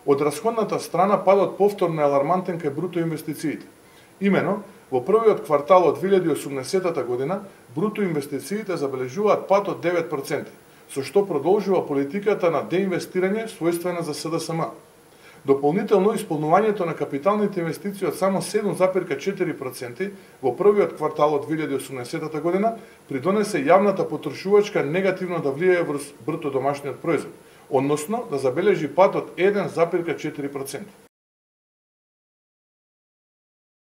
Од расходната страна падот повторно е алармантен кај бруто инвестициите. Имено, во првиот квартал од 2018 година, бруто инвестициите забележуваат пад од 9%, со што продолжува политиката на деинвестирање својствена за СДСМ. Дополнително, исполнувањето на капиталните инвестиции од само 7,4% во првиот квартал од 2018 година придонесе јавната потрошувачка негативно да влијае врз бруто домашниот производ, односно да забележи пад од 1,4%.